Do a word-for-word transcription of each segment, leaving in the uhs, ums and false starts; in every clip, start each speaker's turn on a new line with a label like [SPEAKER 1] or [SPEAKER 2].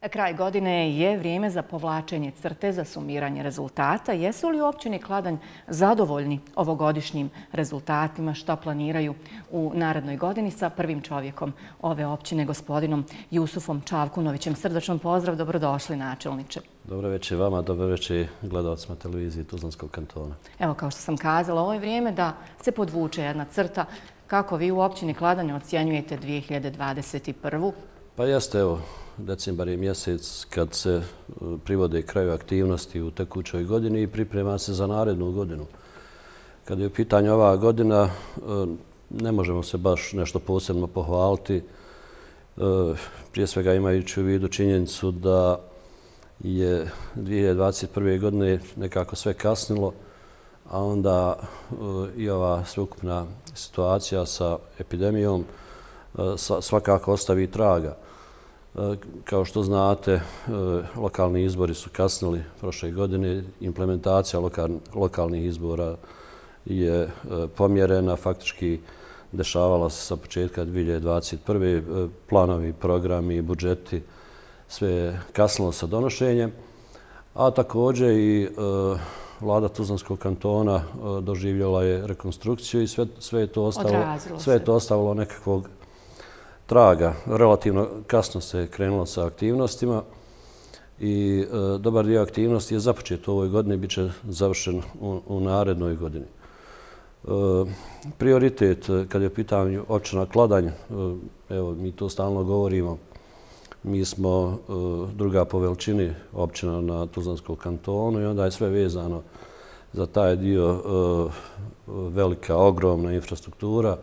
[SPEAKER 1] Kraj godine je vrijeme za povlačenje crte za sumiranje rezultata. Jesu li u općini Kladanj zadovoljni ovogodišnjim rezultatima? Šta planiraju u narednoj godini sa prvim čovjekom ove općine, gospodinom Jusufom Čavkunovićem? Srdačan pozdrav, dobrodošli načelniče.
[SPEAKER 2] Dobro večer vama, dobro večer gledalcima televizije Tuzlanskog kantona.
[SPEAKER 1] Evo, kao što sam kazala, ovo je vrijeme da se podvuče jedna crta. Kako vi u općini Kladanj ocjenjujete dvije hiljade dvadeset prvu?
[SPEAKER 2] Pa jeste, evo, decembar je mjesec kad se privode kraju aktivnosti u tekućoj godini i priprema se za narednu godinu. Kad je u pitanju ova godina, ne možemo se baš nešto posebno pohvaliti. Prije svega imajući u vidu činjenicu da je dvije hiljade dvadeset prve. godine nekako sve kasnilo, a onda i ova sveukupna situacija sa epidemijom svakako ostavi traga. Kao što znate, lokalni izbori su kasnili prošle godine. Implementacija lokalnih izbora je pomjerena, faktički dešavala se sa početka dvije hiljade dvadeset prve. Planovi, programi, budžeti, sve je kasnilo sa donošenjem. A također i vlada Tuzlanskog kantona doživjela je rekonstrukciju i sve je to ostavilo nekakvog traga. Relativno kasno se krenulo sa aktivnostima i dobar dio aktivnosti je započet u ovoj godini, bit će završen u narednoj godini. Prioritet kad je u pitanju općina Kladanj, evo mi to stalno govorimo, mi smo druga po veličini općina na Tuzlanskom kantonu i onda je sve vezano za taj dio, velika, ogromna infrastruktura,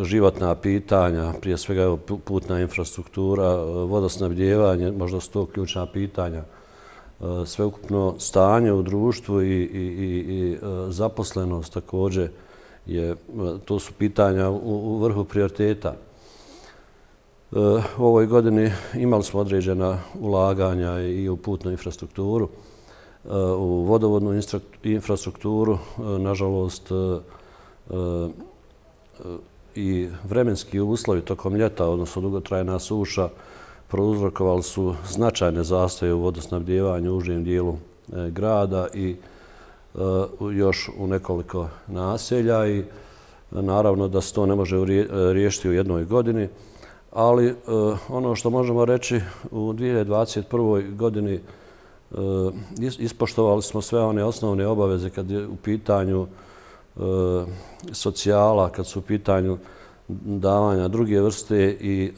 [SPEAKER 2] životna pitanja, prije svega putna infrastruktura, vodosnabdijevanje, možda su to ključna pitanja, sveukupno stanje u društvu i zaposlenost također, to su pitanja u vrhu prioriteta. U ovoj godini imali smo određena ulaganja i u putnu infrastrukturu, u vodovodnu infrastrukturu, nažalost, i vremenski uslovi tokom ljeta, odnosno dugotrajna suša, prouzrokovali su značajne zastoje u vodosnabdijevanju u užem dijelu grada i još u nekoliko naselja i naravno da se to ne može riješiti u jednoj godini, ali ono što možemo reći u dvije hiljade dvadeset prvoj. godini ispoštovali smo sve one osnovne obaveze kad je u pitanju socijala, kad su u pitanju davanja druge vrste i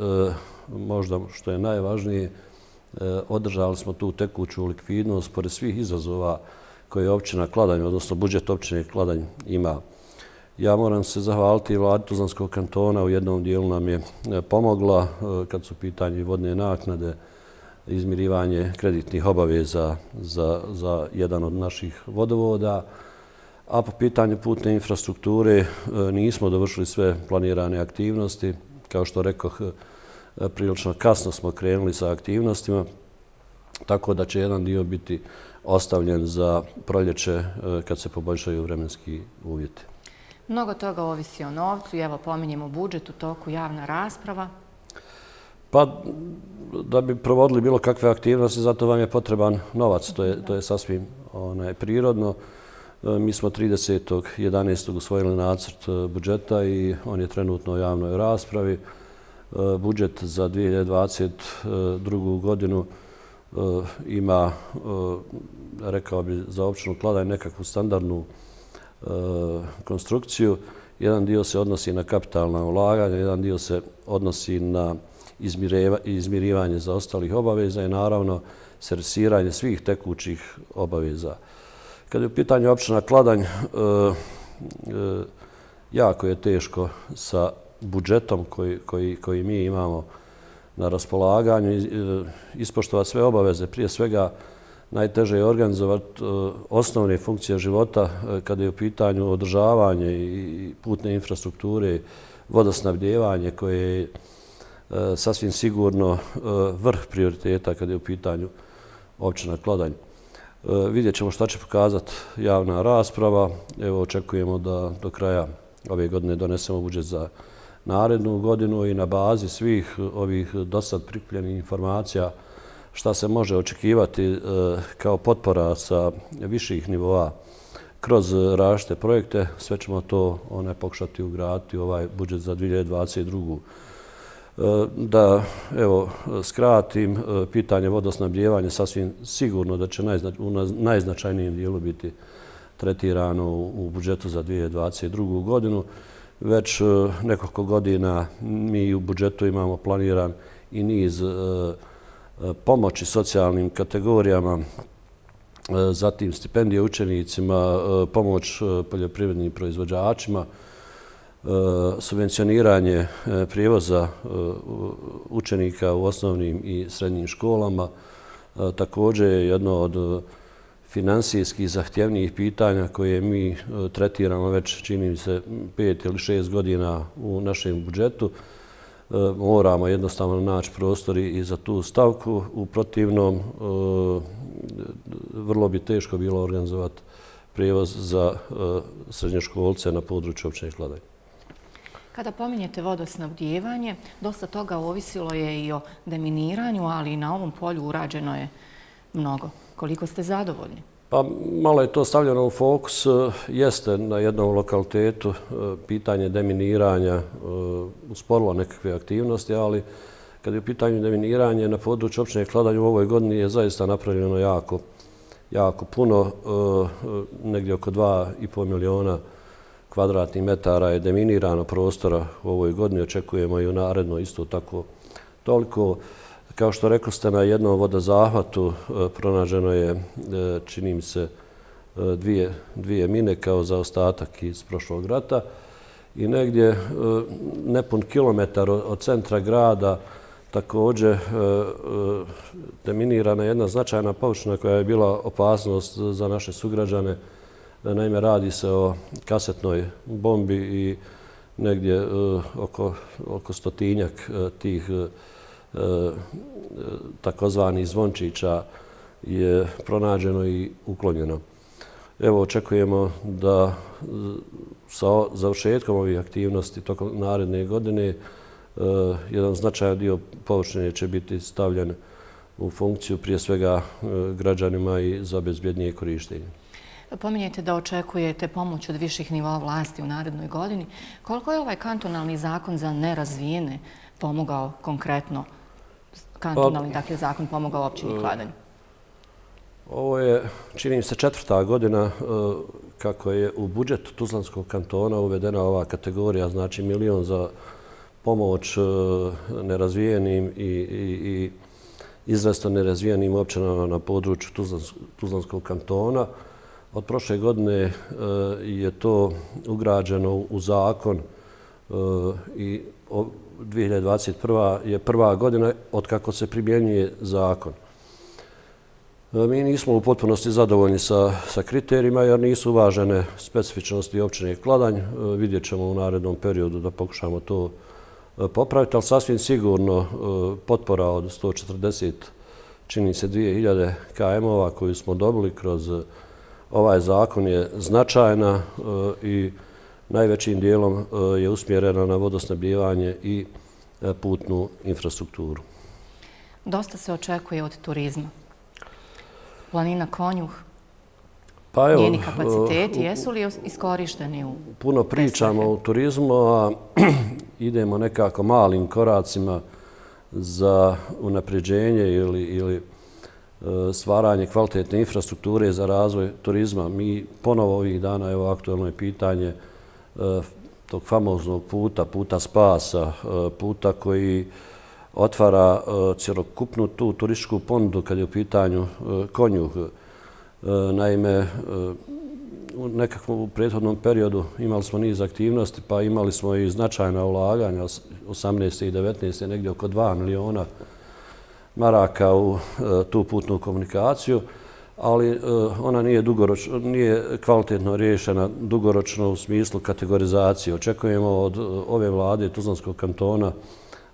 [SPEAKER 2] možda što je najvažnije, održali smo tu tekuću likvidnost pored svih izazova koje općina Kladanj, odnosno budžet općine Kladanj ima. Ja moram se zahvaliti vladi Tuzlanskog kantona, u jednom dijelu nam je pomogla kad su u pitanju vodne naknade, izmirivanje kreditnih obaveza za jedan od naših vodovoda, a po pitanju putne infrastrukture nismo dovršili sve planirane aktivnosti. Kao što rekoh, prilično kasno smo krenuli sa aktivnostima, tako da će jedan dio biti ostavljen za proljeće kad se poboljšaju vremenski uvjeti.
[SPEAKER 1] Mnogo toga ovisi o novcu. Evo, pominjemo budžet, u toku javna rasprava.
[SPEAKER 2] Pa, da bi provodili bilo kakve aktivnosti, zato vam je potreban novac. To je sasvim prirodno. Mi smo tridesetog jedanaestog usvojili nacrt budžeta i on je trenutno u javnoj raspravi. Budžet za dvije hiljade dvadeset drugu. godinu ima, rekao bi, za općinu Kladanj nekakvu standardnu konstrukciju. Jedan dio se odnosi na kapitalna ulaganja, jedan dio se odnosi na izmirivanje zaostalih obaveza i naravno servisiranje svih tekućih obaveza. Kad je u pitanju općina Kladanj, jako je teško sa budžetom koji mi imamo na raspolaganju ispoštovati sve obaveze. Prije svega, najteže je organizovati osnovne funkcije života kada je u pitanju održavanje i putne infrastrukture, vodosnabdijevanje koje je sasvim sigurno vrh prioriteta kada je u pitanju općina Kladanj. Vidjet ćemo šta će pokazati javna rasprava. Evo, očekujemo da do kraja ove godine donesemo budžet za narednu godinu i na bazi svih ovih dosad prikupljenih informacija šta se može očekivati kao potpora sa viših nivoa kroz različite projekte. Sve ćemo to one pokušati ugraditi u ovaj budžet za dvije hiljade dvadeset drugu. Da, evo, skratim, pitanje vodosnabdijevanja sasvim sigurno da će u najznačajnijem dijelu biti tretirano u budžetu za dvije hiljade dvadeset drugu. godinu. Već nekoliko godina mi u budžetu imamo planiran i niz pomoći socijalnim kategorijama, zatim stipendije učenicima, pomoć poljoprivrednim proizvođačima, subvencioniranje prijevoza učenika u osnovnim i srednjim školama. Također je jedno od finansijskih zahtjevnijih pitanja koje mi tretiramo već, čini mi se, pet ili šest godina u našem budžetu. Moramo jednostavno naći prostor i za tu stavku. U protivnom, vrlo bi teško bilo organizovati prijevoz za srednjoškolce na području općine Kladanj.
[SPEAKER 1] Kada pominjete vodosnabdijevanje, dosta toga ovisilo je i o deminiranju, ali i na ovom polju urađeno je mnogo. Koliko ste zadovoljni?
[SPEAKER 2] Pa malo je to stavljeno u fokus. Jeste na jednom lokalitetu pitanje deminiranja usporilo nekakve aktivnosti, ali kad je u pitanju deminiranje na području općine Kladanj u ovoj godini je zaista napravljeno jako, jako puno. Negdje oko dva i pol miliona kvadratnih metara je deminirano prostora u ovoj godini. Očekujemo i u narednoj isto tako toliko. Kao što rekli ste, na jednom vodozahvatu pronađeno je, čini mi se, dvije, dvije mine kao zaostatak iz prošlog rata i negdje nepun kilometar od centra grada također deminirana jedna značajna površina koja je bila opasnost za naše sugrađane. Naime, radi se o kasetnoj bombi i negdje oko, oko stotinjak tih takozvanih zvončića je pronađeno i uklonjeno. Evo, očekujemo da sa završetkom ovih aktivnosti tokom naredne godine jedan značajan dio površine će biti stavljen u funkciju prije svega građanima i za bezbjednije korištenje.
[SPEAKER 1] Pominjete da očekujete pomoć od viših nivoa vlasti u narednoj godini. Koliko je ovaj kantonalni zakon za nerazvijene pomogao konkretno, kantonalni dakle, zakon pomogao općini Kladanj?
[SPEAKER 2] Ovo je, čini mi se, četvrta godina kako je u budžet Tuzlanskog kantona uvedena ova kategorija, znači milion za pomoć nerazvijenim i, i, i izrazito nerazvijenim općinama na području Tuzlanskog kantona. Od prošle godine je to ugrađeno u zakon i dvije hiljade dvadeset prva je prva godina od kako se primjenjuje zakon. Mi nismo u potpunosti zadovoljni sa, sa kriterijima jer nisu uvažene specifičnosti općine Kladanj. Vidjet ćemo u narednom periodu da pokušamo to popraviti, ali sasvim sigurno potpora od sto četrdeset, čini se dvije hiljade km-ova koju smo dobili kroz ovaj zakon je značajna i najvećim dijelom je usmjerena na vodosnabdijevanje i putnu infrastrukturu.
[SPEAKER 1] Dosta se očekuje od turizma. Planina Konjuh,
[SPEAKER 2] pa evo,
[SPEAKER 1] njeni kapaciteti, jesu li iskorišteni u
[SPEAKER 2] puno pričamo o turizmu, a idemo nekako malim koracima za unapređenje ili, ili stvaranje kvalitetne infrastrukture za razvoj turizma. Mi ponovo ovih dana, evo aktualno je pitanje tog famoznog puta, puta spasa, puta koji otvara cjelokupnu tu turističku ponudu kad je u pitanju Konjuh. Naime, u nekakvom u prethodnom periodu imali smo niz aktivnosti, pa imali smo i značajna ulaganja, osamnaeste i devetnaeste negdje oko dva miliona maraka u tu putnu komunikaciju, ali ona nije, dugoročno, nije kvalitetno riješena dugoročno u smislu kategorizacije. Očekujemo od ove vlade Tuzlanskog kantona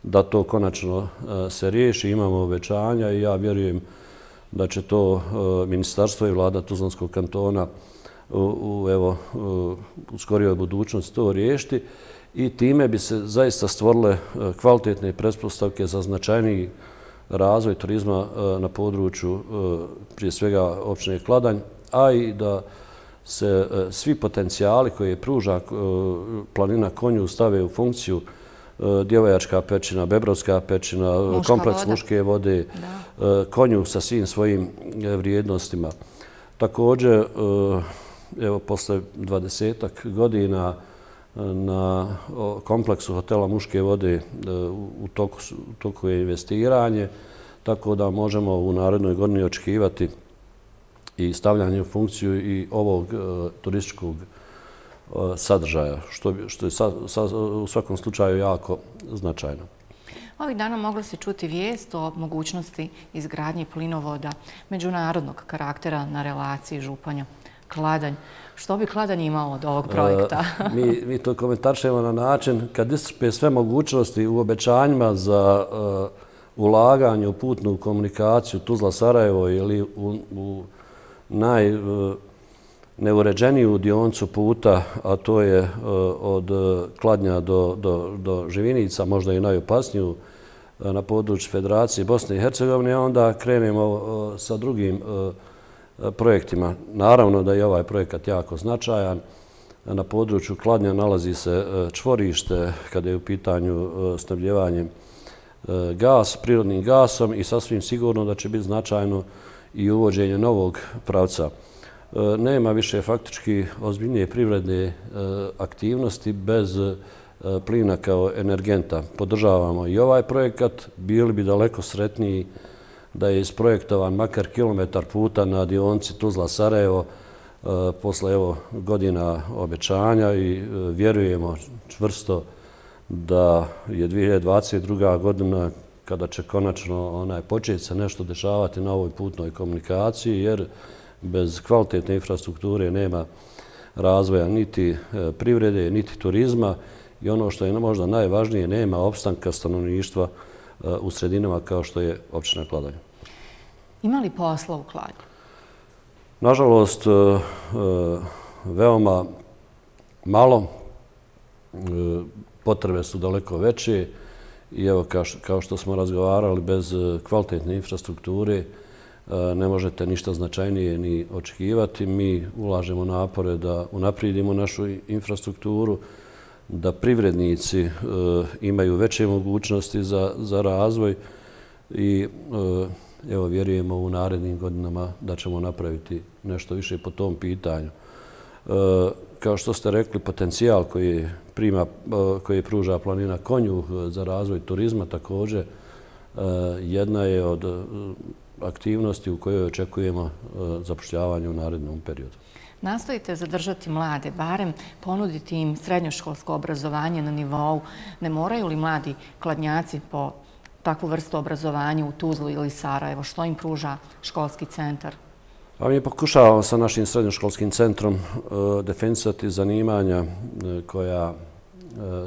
[SPEAKER 2] da to konačno se riješi, imamo obećanja i ja vjerujem da će to ministarstvo i vlada Tuzlanskog kantona u, u, evo, u skorijoj budućnosti to riješiti. i time bi se zaista stvorile kvalitetne pretpostavke za značajniji razvoj turizma na području prije svega općine Kladanj, a i da se svi potencijali koje pruža planina Konjuh stave u funkciju Djevojačka pećina, Bebrovska pećina, kompleks Muške vode, Konjuh sa svim svojim vrijednostima. Također, evo, posle dvadesetak godina na kompleksu hotela Muške vode u toku je investiranje, tako da možemo u narednoj godini očekivati i stavljanje u funkciju i ovog turističkog sadržaja, što je u svakom slučaju jako značajno.
[SPEAKER 1] Ovih dana moglo se čuti vijest o mogućnosti izgradnje plinovoda međunarodnog karaktera na relaciji Županja-Kladanj. Što bi Kladanj imao od ovog projekta?
[SPEAKER 2] Mi to komentaršemo na način kad iscrpe sve mogućnosti u obećanjima za ulaganje u putnu komunikaciju Tuzla-Sarajevo ili u najneuređeniju dioncu puta, a to je od Kladnja do Živinica, možda i najopasniju na području Federacije Bosne i Hercegovine, onda krenemo sa drugim projektima. Naravno da je ovaj projekat jako značajan. Na području Kladnja nalazi se čvorište kada je u pitanju snabdjevanje gas, prirodnim gasom i sasvim sigurno da će biti značajno i uvođenje novog pravca. Nema više faktički ozbiljnije privredne aktivnosti bez plina kao energenta. Podržavamo i ovaj projekat. Bili bi daleko sretniji da je isprojektovan makar kilometar puta na dionci Tuzla-Sarajevo posle godina obećanja i vjerujemo čvrsto da je dvije hiljade dvadeset druga. godina kada će konačno početi se nešto dešavati na ovoj putnoj komunikaciji, jer bez kvalitetne infrastrukture nema razvoja niti privrede, niti turizma i ono što je možda najvažnije, nema opstanka stanovništva u sredinama kao što je općina Kladanj.
[SPEAKER 1] Ima li posla u Kladnju?
[SPEAKER 2] Nažalost, veoma malo. Potrebe su daleko veće i evo kao što smo razgovarali, bez kvalitetne infrastrukture ne možete ništa značajnije ni očekivati. Mi ulažemo napore da unaprijedimo našu infrastrukturu, da privrednici imaju veće mogućnosti za razvoj i evo vjerujemo u narednim godinama da ćemo napraviti nešto više po tom pitanju. Kao što ste rekli, potencijal koji pruža planina Konjuh za razvoj turizma također jedna je od aktivnosti u kojoj očekujemo zapošljavanje u narednom periodu.
[SPEAKER 1] Nastojite zadržati mlade, barem ponuditi im srednjoškolsko obrazovanje na nivou. Ne moraju li mladi Kladnjaci po takvu vrstu obrazovanja u Tuzlu ili Sarajevo? Što im pruža školski centar?
[SPEAKER 2] Mi pokušavamo sa našim srednjoškolskim centrom definisati zanimanja koja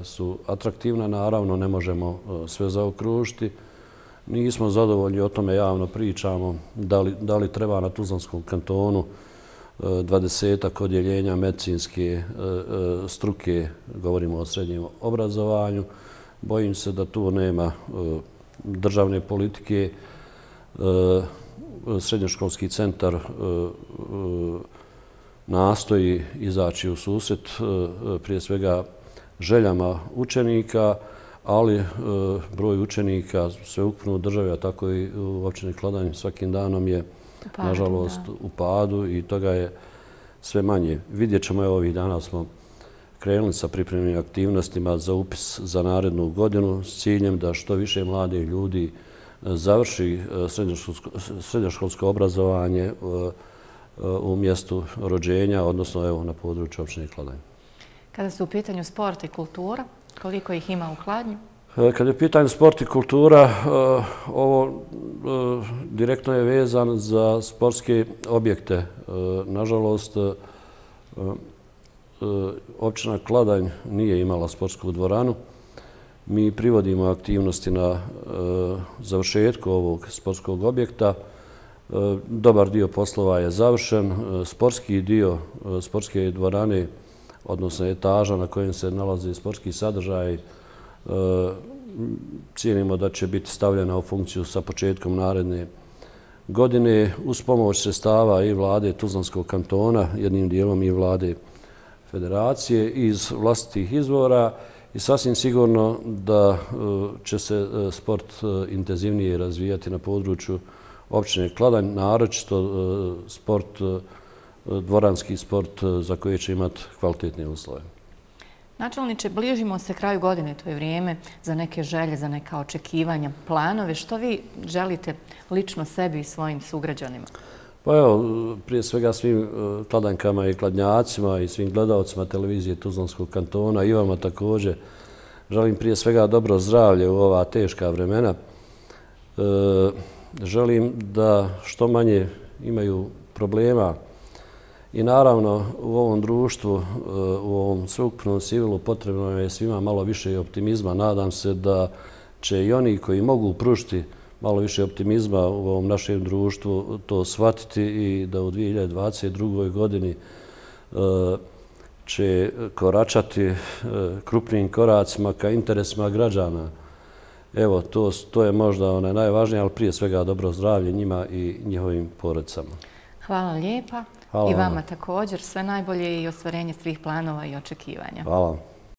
[SPEAKER 2] su atraktivna. Naravno, ne možemo sve zaokružiti. Nismo zadovoljni, o tome javno pričamo, da li treba na Tuzlanskom kantonu dvadesetak odjeljenja medicinske struke, govorimo o srednjem obrazovanju. Bojim se da tu nema državne politike. Srednjoškolski centar nastoji izaći u susret prije svega željama učenika, ali broj učenika sveukupno u državi, a tako i u općini Kladanj svakim danom je nažalost u padu i toga je sve manje. Vidjet ćemo, evo ovih dana smo krenuli sa pripremnim aktivnostima za upis za narednu godinu s ciljem da što više mladih ljudi završi srednjoškolsko obrazovanje u mjestu rođenja, odnosno evo na području općine Kladanj.
[SPEAKER 1] Kada su u pitanju sport i kultura, koliko ih ima u Kladnju?
[SPEAKER 2] Kada je u pitanju sport i kultura, ovo direktno je vezan za sportske objekte. Nažalost, općina Kladanj nije imala sportsku dvoranu. Mi privodimo aktivnosti na završetku ovog sportskog objekta. Dobar dio poslova je završen. Sportski dio sportske dvorane odnosno etaža na kojem se nalaze sportski sadržaj, cijenimo da će biti stavljena u funkciju sa početkom naredne godine uz pomoć sredstava i vlade Tuzlanskog kantona, jednim dijelom i vlade federacije iz vlastitih izvora i sasvim sigurno da će se sport intenzivnije razvijati na području općine Kladanj, naročito sport, dvoranski sport za koje će imati kvalitetne uslove.
[SPEAKER 1] Načelniče, bližimo se kraju godine, to je vrijeme za neke želje, za neka očekivanja, planove. Što vi želite lično sebi i svojim sugrađanima?
[SPEAKER 2] Pa evo, prije svega svim Kladankama i Kladnjacima i svim gledalcima televizije Tuzlanskog kantona i vama također želim prije svega dobro zdravlje u ova teška vremena. Želim da što manje imaju problema i naravno u ovom društvu, u ovom sveukupnom civilu potrebno je svima malo više optimizma. Nadam se da će i oni koji mogu pružiti malo više optimizma u ovom našem društvu to shvatiti i da u dvije hiljade dvadeset drugoj godini će koračati krupnim koracima ka interesima građana. Evo, to, to je možda onaj najvažnije, ali prije svega dobro zdravlje njima i njihovim porodicama.
[SPEAKER 1] Hvala lijepa.
[SPEAKER 2] Hvala
[SPEAKER 1] I vama također. Sve najbolje i ostvarenje svih planova i očekivanja.
[SPEAKER 2] Hvala.